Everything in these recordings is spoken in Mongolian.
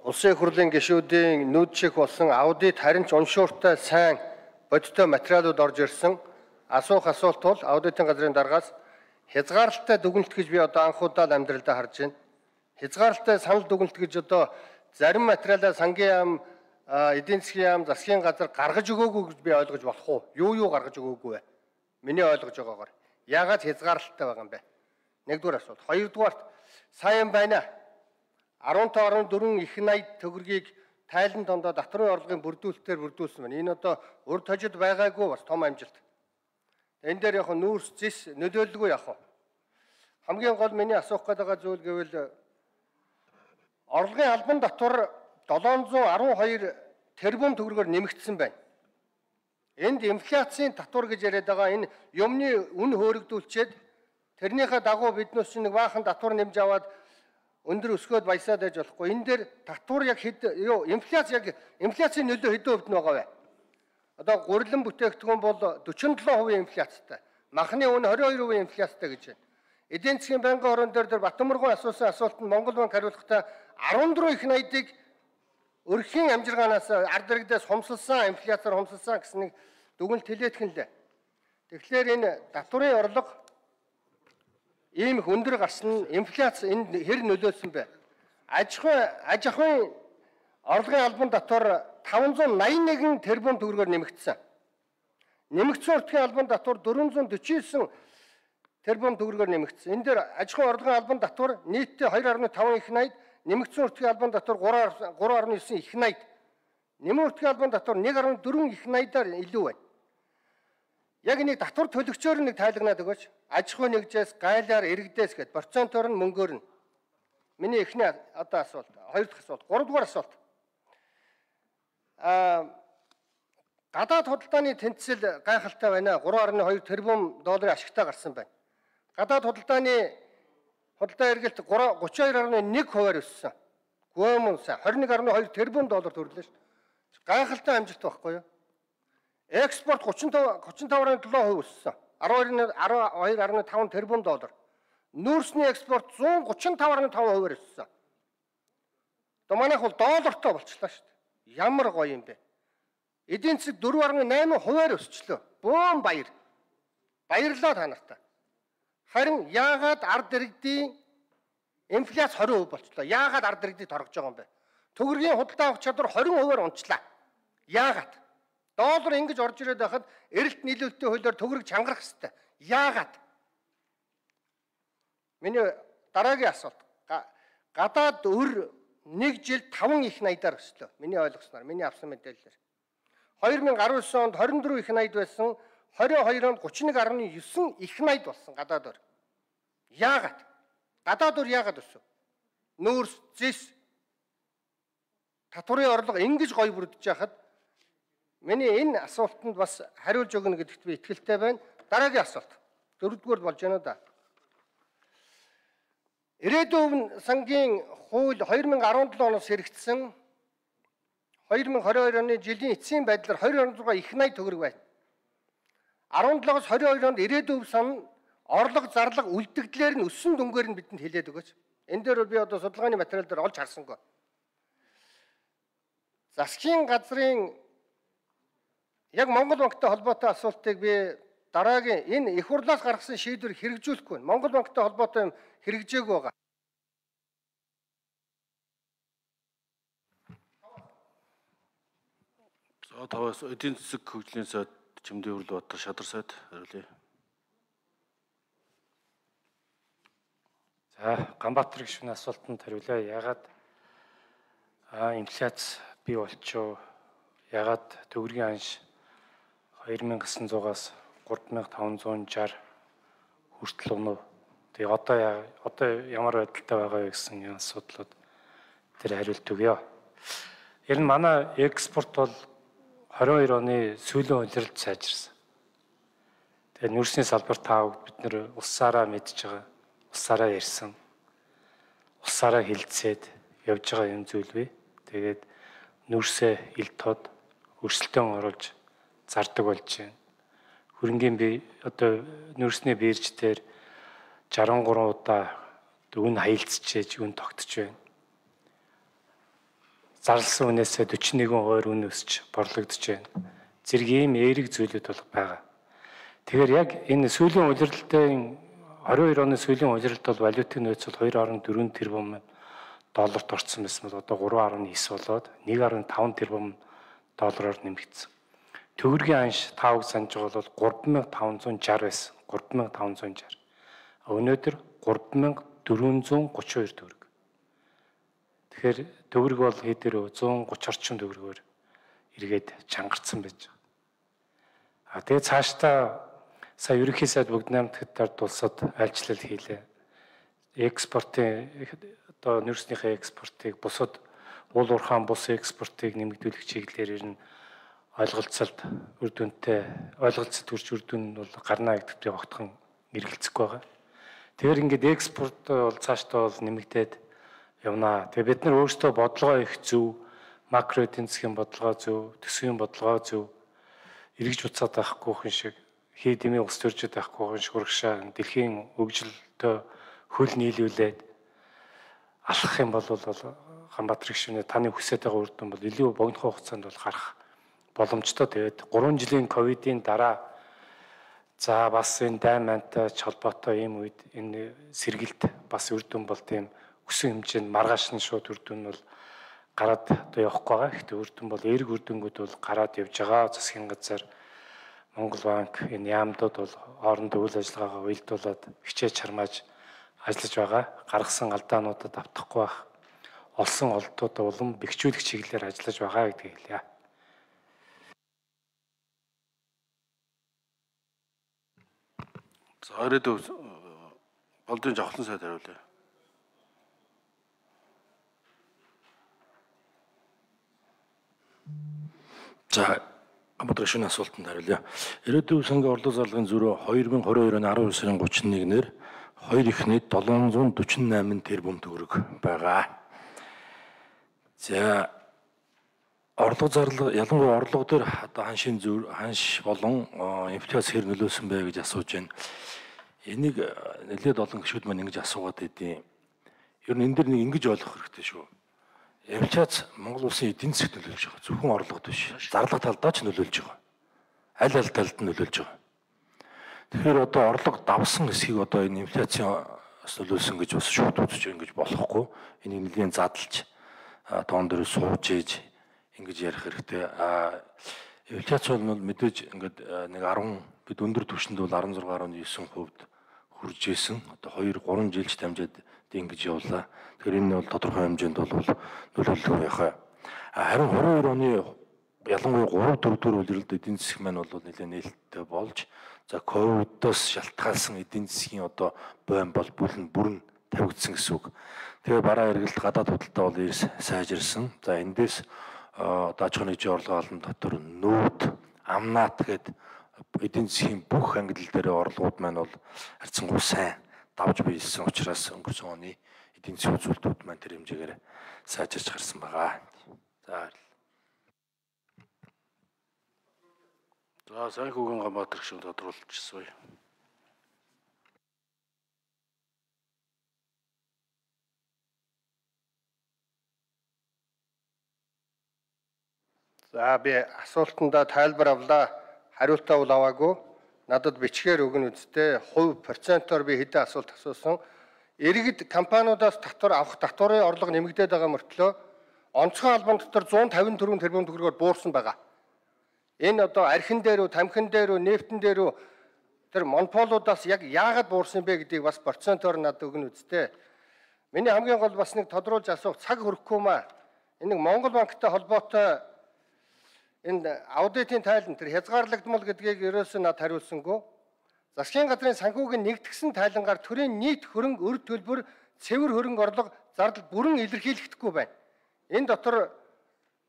Улсын их хурлын гишүүдийн нүүд шиг болсон аудит харин ч уншууртай сайн бодиттой материалууд орж ирсэн. Асуух асуулт бол аудитын газрын даргаас хязгаарлалтай дүгнэлт гэж би одоо анх удаа амьдралдаа харж байна. Хязгаарлалтай санал дүгнэлт гэж одоо зарим материалаа сангийн яам, эдийн засгийн яам, засгийн газар гаргаж өгөөгүй гэж би ойлгож болох уу? Юу гаргаж өгөөгүй вэ? Миний ойлгож байгаагаар. Яагаад хязгаарлалтай байгаа юм бэ? Нэгдүгээр асуулт. Хоёрдугаарт сайн байна. 15.4 их найд төгрөгийг тайлан дондоо татварын орлогын бүрдүүлэлтээр бүрдүүлсэн байна. Энэ одоо урд хожид байгаагүй бас том амжилт. Энэ дээр яг нүүрс зис нөлөөлөлгүй яг. Хамгийн гол миний асуух гэдэг зүйл гэвэл орлогын албан татвар 712 тэрбум төгрөгөөр нэмэгдсэн байна. Энд инфляцийн татвар гэж яриад байгаа энэ юмны үн хөөрөгдүүлчихэд тэрнийхээ дагуу биднээс нэг баахан татвар нэмж аваад өндөр өсгөөд баясаад байж болохгүй. Энэ дээр татвар яг инфляцийн нөлөө хэдэн хувьд нь байгаа вэ? Одоо гурилан бүтээгдэхүүн бол 47% инфляцтай. Махны үн 22% инфляцтай гэж байна. Эдийн засгийн байнгын хорон дээр Батмурган асуусан асуултанд Монгол банк хариулахдаа 14 их найдыг өрхийн амжиргаанаас ард иргэдээс хумсалсан, инфляцаар хумсалсан гэсэн нэг дүгнэлт хэлээдхэн лээ. Тэгэхээр энэ татварын орлого ийм их өндөр гарсан инфляц энд хэр нөлөөлсөн бэ? Аж ахуйн орлогын албан татвар 581 тэрбум төгрөгөөр нэмэгдсэн. Нэмэгдсэн уртгийн албан татвар 449 тэрбум төгрөгөөр нэмэгдсэн. Энэ дээр аж ахуйн орлогын албан татвар нийтдээ 2.5 их найд, нэмэгдсэн уртгийн албан татвар 3.9 их найд. Нэмэн уртгийн албан татвар 1.4 их найдаар илүү байна. Яг нэг татвар төлөгчөөр нэг тайлагнаад өгөөч. Аж ахуй нэгжээс, гайлаар, иргэдээс гээд процентоор нь мөнгөөр нь. Миний эхний одоо асуулт, хоёр дахь асуулт, гуравдугаар асуулт. Гадаад худалдааны тэнцэл гайхалтай байна. 3.2 тэрбум долларын ашигтай гарсан байна. Гадаад худалдаа эргэлт 32.1% өссөн. Гүмүнс 21.2 тэрбум доллар төрлөө шүү. Гайхалтай амжилт байхгүй юу? Экспорт 35.7% өссөн. 12.5 тэрбум доллар. Нүүрсний экспорт 135.5% өссөн. Одоо манайх бол доллартай болчихлоо шүү дээ. Ямар гоё юм бэ? Эдийн засаг 4.8% өсчлөө. Бөөн баяр. Баярлалаа та нартай. Харин яагаад ард иргэдийн инфляц 20% болчлоо? Яагаад ард иргэдийг торгож байгаа юм бэ? Төгрөгийн худалдаа авах чадвар 20%-аар унчлаа. Яагаад? Доллар ингэж орж ирээд байхад эрэлт нийлүүлэлтийн хуулиар төгрөг чангарах ёстой. Яагаад? Миний дараагийн асуулт. Гадаад өр нэг жилд 5 их найдаар өслөө. Миний ойлгосноор, миний авсан мэдээлэлээр. 2019 онд 24 их найд байсан, 22 онд 31.9 их найд болсон гадаад өр. Яагаад? Гадаад өр яагаад өсөв? Нүүрс, зис, татварын орлого ингэж гоё бүрдэж байхад миний энэ асуултанд бас хариулж өгнө гэдэгт би итгэлтэй байна. Дараагийн асуулт. Дөрөвдүгээр болж байна да. Ирээдүйн сангийн хууль 2017 оноос хэрэгжсэн 2022 оны жилийн эцсийн байдлаар 2.6 их найд төгрөг байна. 17-оос 22 онд ирээдүйн сан орлого зарлага үлдэгдлэр нь өссөн дүнгээр нь бидэнд хэлээд өгөөч. Энэ дээр би одоо судалгааны материал дээр олж харсангүй. Засгийн газрын яг Монгол банктай холбоотой асуултыг би дараагийн энэ их хурлаас гаргасан шийдвэр хэрэгжүүлэхгүй байна. Монгол банктай холбоотой юм хэрэгжээгүй байгаа. За таваас эдийн засаг хөгжлийн сайд Чимдээ Өрлөбаатар Шадар сайд хариулъя. За Ганбаатар гишүүний асуултанд хариулъя. Яагаад инфляц бий болчихоо? Яагаад төгрөгийн анш 2900-аас 3560 хүртэл өнөө. Тэгээ одоо ямар байдалтай байгаа вэ гэсэн асуудлууд тэр хариулт өгье. Ер нь манай экспорт бол 22 оны сүүлийн улиралд сайжирсан. Тэгээ нүүрсний салбар таавд бид нэр улсаараа мэдж байгаа, улсаараа ярьсан, улсаараа хилцээд явж байгаа юм зүйл бий. Тэгээд нүүрсээ ил тод өрсөлдөөн оруулж зардаг болж байна. Хөрөнгийн би одоо нүүрсний бирж дээр 63 удаа үн хаялцчээж үн тогтож байна. зарласан үнээсээ 41% үн өсч борлогдож байна. Зэрэг ийм эерэг зүйлүүд бол байгаа. Тэгэхээр яг энэ сүүлийн улирлалтын 22 оны сүүлийн улирлалт бол валютын нөөц бол 2.4 тэрбум долларт орсон байсан бол одоо 3.9 болоод 1.5 тэрбум доллараар нэмэгдсэн. Төгрөгийн анш та үг санаж байгаа бол 3560 байсан. 3560. Өнөөдөр 3432 төгрөг. Тэгэхээр төгрөг бол хэдээр 130 орчим төгрөгөөр эргээд чангарсан байж байгаа. Тэгээд цаашдаа сая ерөнхий сайд Бүгд найрамдагтад улсад айлчлал хийлээ. Экспортын одоо нүүрснийхээ экспортыг бусад уул уурхаан бус экспортыг нэмэгдүүлэх чиглэлээр нь ойлголцолд үр дүнтэй ойлголцолд хүрч үр дүн бол гарна гэдэгт огтхон эргэлзэхгүй байгаа. Тэгэхээр ингээд экспорт бол цаашдаа бол нэмэгдээд явна. Тэгээ бид нар өөрсдөө бодлогоо их зөв, макро эдийн засгийн бодлогоо зөв, төсвийн бодлогоо зөв эргэж буцаад байхгүй хүн шиг хий дэмий ус төржөд байхгүй хүн шиг урагшаа дэлхийн хөгжилтөө хөл нийлүүлээд алхах юм бол Ганбаатар гишүүнээ таны хүсэж байгаа үр дүн бол илүү богино хугацаанд бол гарах боломжтой. Тэгээд 3 жилийн ковидын дараа за бас энэ даймантай холбоотой ийм үед энэ сэргэлт бас үр дүн бол тийм өсөн хэмжээнд маргааш нь шууд үр дүн бол гараад одоо явахгүй байгаа. Гэхдээ үр дүн бол эерэг үр дүнгууд бол гараад явж байгаа. Засгийн газар Монгол банк энэ яамдууд бол хоорондоо үйл ажиллагаагаа уялдуулаад хичээж чармааж ажиллаж байгаа. Гаргасан алдаануудад автахгүй байх. Олсон олдуудаа улам бэхжүүлэх чиглэлээр ажиллаж байгаа гэдгийг хэлье. За ирээдүйн болдын жавхлан сайд хариулъя. За Ганбаатар гишүүний асуултанд хариулъя. Ирээдүйн сангийн орлого зарлагын зөрүү 2022 оны 12 сарын 31-ээр 2 ихнийд 748 тэрбум төгрөг байгаа. За орлого зарлага ялангуяа орлого дээр одоо ханш болон инфляц хэр нөлөөсөн бэ гэж асууж байна. Энийг нэлээд олон гишүүд маань ингэж асуугаад байдیں۔ Ер нь энэ дэр нэг ингэж ойлгох хэрэгтэй шүү. Инфляц Монгол улсын эдийн засгт нөлөөлж байгаа. Зөвхөн орлогод биш. Зарлага талдаа ч нөлөөлж байгаа. Аль аль талд нь нөлөөлж байгаа. Тэгэхээр одоо орлого давсан хэсгийг одоо энэ инфляцаас нөлөөлсөн гэж бас шууд үзэж ингэж болохгүй. Энийг нэлийн задлж тоон дээр сууж ийж ингэж ярих хэрэгтэй. Инфляц бол мэдээж ингээд нэг 10 бид өндөр түвшинд бол 16.9% хүрж исэн. Одоо 2-3 жилч дамжаад ингэж явлаа. Тэгэхээр энэ бол тодорхой хэмжээнд бол нөлөөлөх байхаа. Харин 22 оны ялангуяа 3-4 улирлд эдийн засаг маань бол нэлээд нээлттэй болж за ковидоос шалтгаалсан эдийн засгийн одоо бойн бол бүрэн тавигдсан гэсэн үг. Тэгээ бараа эргэлт гадаад худалдаа бол сайжирсан. За эндээс аж ахуйн нэгжийн орлого олон дотор нүүд амнаат гэдэг эдийн засгийн бүх ангилал дээр орлогууд маань бол харьцангуй сайн давж биелсэн учраас өнгөрсөн оны эдийн засгийн үзүүлэлтүүд маань тэр хэмжээгээр сайжирч гарсан байгаа. За сайн хүүгэн Ганбаатар гишүүн тодруулчихсан. За би асуултандаа тайлбар авлаа. Хариултаа бол аваагүй. Надад бичгээр өгнө үсттэй. Хувь процентоор би хэдэн асуулт асуусан. Иргэд компаниудаас авах татварын орлого нэмэгдээд байгаа мөртлөө онцгой албан дотор 154 тэрбум төгрөгөөр буурсан байгаа. Энэ одоо архин дээр үү, тамхин дээр үү, нефтэн дээр үү тэр монополуудаас яг яагаад буурсан бэ гэдгийг бас процентоор надад өгнө үсттэй. Миний хамгийн гол бас нэг тодруулж асуух цаг хүрэхгүй маа. Энэ Монгол банктай холбоотой энэ аудитын тайлан тэр хязгаарлагдмал гэдгийг ерөөсөө над хариулсангүй. Засгийн газрын санхүүгийн нэгдгсэн тайлангаар төрийн нийт хөрөнгө өр төлбөр цэвэр хөрөнгө орлого зардал бүрэн илэрхийлэгдэхгүй байна. Энэ дотор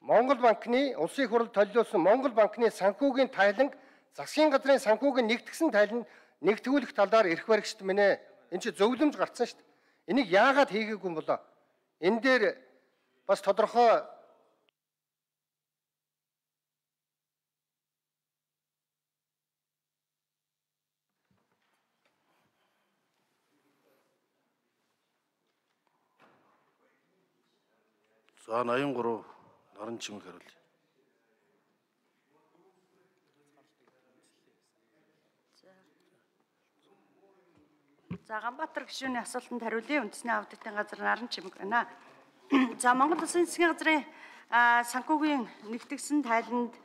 Монгол банкны улсын их хурл толиулсан Монгол банкны санхүүгийн тайланг засгийн газрын санхүүгийн нэгдгсэн тайлан нэгтгүүлэх талаар эрх баригчд минь энэ чи зөвлөмж гарцсан шүү дээ. Энийг яагаад хийгээгүй юм болоо? Энэ дээр бас тодорхой За 83 Наран чимэг хариулъя. За Ганбаатар гишүүний асуултанд хариулъя. Үндэсний аудитын газар наран чимэг байна. За Монгол Улсын засгийн газрын санхүүгийн нэгтгэсэн тайланд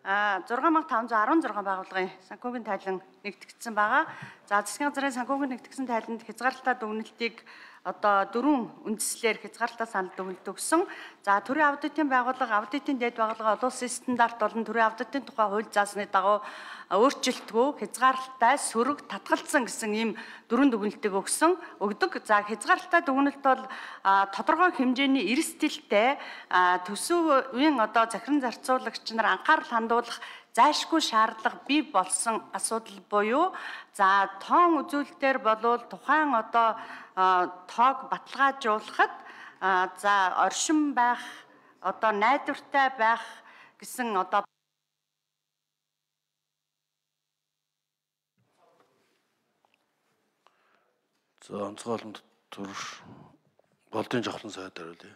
6516 байгууллагын санхүүгийн тайлан нэгтгэгдсэн байгаа. За засгийн газрын санхүүгийн нэгтгэсэн тайланд хязгаарлалтай дүгнэлтийг одоо 4 үндслээр хязгаарлалтай санал дүгнэлт өгсөн. За төрийн аудитын байгууллага, аудитын дэд байгууллага олон улсын стандарт болон төрийн аудитын тухай хууль заасны дагуу өөрчлөлтгүй хязгаарлалтай сөрөг татгалзсан гэсэн ийм 4 дүгнэлтийг өгдөг. За хязгаарлалтай дүгнэлт бол тодорхой хэмжээний эрсдэлтэй төсөвийн одоо захиран зарцуулагч нар анхаарал хандуулах зайлшгүй шаардлага бий болсон асуудал буюу за тоон үзүүлэлтээр болвол тухайн одоо тоог баталгаажуулахад за оршин байх одоо найдвартай байх гэсэн одоо За онцгой олонд төрш болдын жавхлан сайд хариулъя.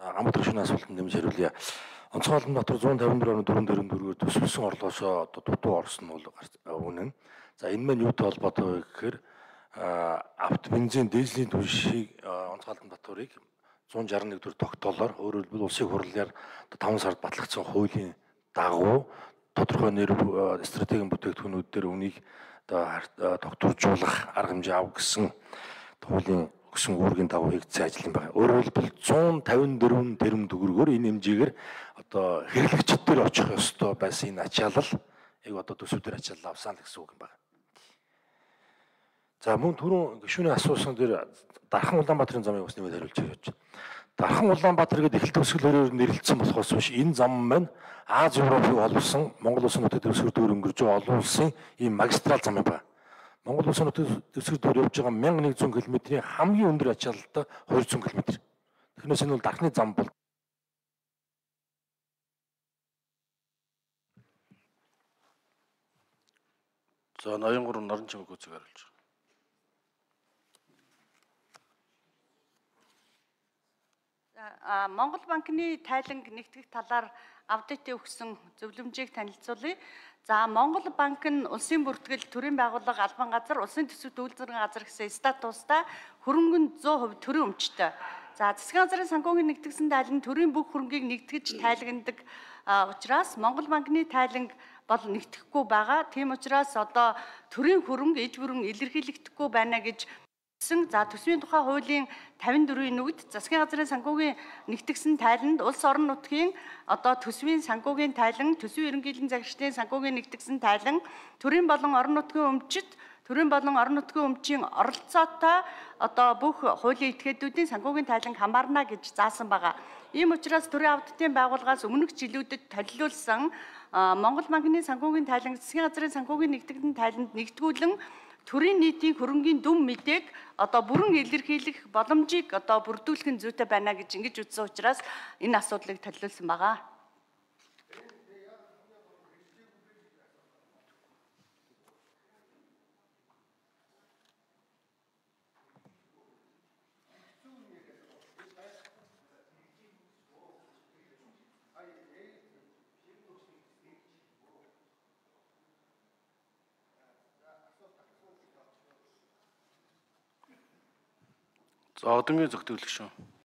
Ганбаатар гишүүний асуултанд нэмж хариулъя. Онцгой олон дотор 154.4 төсвөлсөн орлогоосоо одоо дутуу орсон нь бол үнэн. За энэ маань юутай холбоотой вэ гэхээр авто бензин дизелийн түвшийг онцгой олон доторыг 161 төгрөг тогтоолоор өөрөөр хэлбэл улсын хурлаар 5 сард батлагдсан хуулийн дагуу тодорхой нэр стратегийн бүтээгдэхүүнүүд дээр үнийг тогтворжуулах арга хэмжээ авах гэсэн хуулийн өгсөн үүргийн дагуу хийгдсэн ажил юм байна. Өөрөөр хэлбэл 154 тэрбум төгрөгөөр энэ хэмжээгээр одоо хэрэглэгчид дээр очих ёстой байсан энэ ачаалал яг одоо төсөвдөр ачаалал авсан л гэсэн үг юм байна. За мөн түрүүн гишүүний асуусан дээр Дархан Улаанбаатарын замыг бас нэмээд хариулж өгч. Дархан Улаанбаатар гэдэг эхлэл төгсгөл өрөөр нэрлэгдсэн болохоос биш энэ зам маань Аз Европыг олбсон Монгол Улсын нутаг дэвсгэр дүүр өнгөрж байгаа олон улсын ийм магистрал зам юм байна. Монгол Улсын нутаг дэвсгэр дүүр явж байгаа 1100 км-ийн хамгийн өндөр ачаалалтай 200 км. Тэгэхээр энэ бол Дархны зам бол За 83 наран чимэг үзэг хариулж. Монгол банкны тайланг нэгтгэх талаар аудитын өгсөн зөвлөмжийг танилцуулъя. За Монгол банк нь улсын бүртгэл, төрийн байгууллага, албан газар, улсын төсөв үйлдвэрийн газар гэсэн статустай хөрөнгөнд 100% төрийн өмчтэй. За засгийн газрын санхүүгийн нэгтгэсэн тайланд төрийн бүх хөрөнгийг нэгтгэж тайлагнадаг учраас Монгол банкны тайланг бол нэгтгэхгүй байгаа. Тийм учраас одоо төрийн хөрөнгө иж бүрэн илэрхийлэгдэхгүй байна гэж за төсвийн тухай хуулийн 54-ийн нүгд засгийн газрын санхүүгийн нэгтгэсэн тайланд улс орон нутгийн одоо төсвийн санхүүгийн тайлан, төсвийн ерөнхийлөгчийн загварчдын санхүүгийн нэгтгэсэн тайлан, төрийн болон орон нутгийн өмчит, төрийн болон орон нутгийн өмчийн оролцоотой одоо бүх хуулийн этгээдүүдийн санхүүгийн тайлан хамаарна гэж заасан байгаа. Ийм учраас төрийн аудитын байгууллагаас өмнөх жилүүдэд толилуулсан Монгол банкны санхүүгийн тайлан, засгийн газрын санхүүгийн нэгтгэсэн тайланд нэгтгүүлэн төрийн нийтийн хөрөнгийн дүн мэдээг одоо бүрэн илэрхийлэх боломжийг одоо бүрдүүлэх нь зүйтэй байна гэж ингэж үзсэн учраас энэ асуудлыг толиулсан байгаа. За одонгийн зөвтгөлч шүү.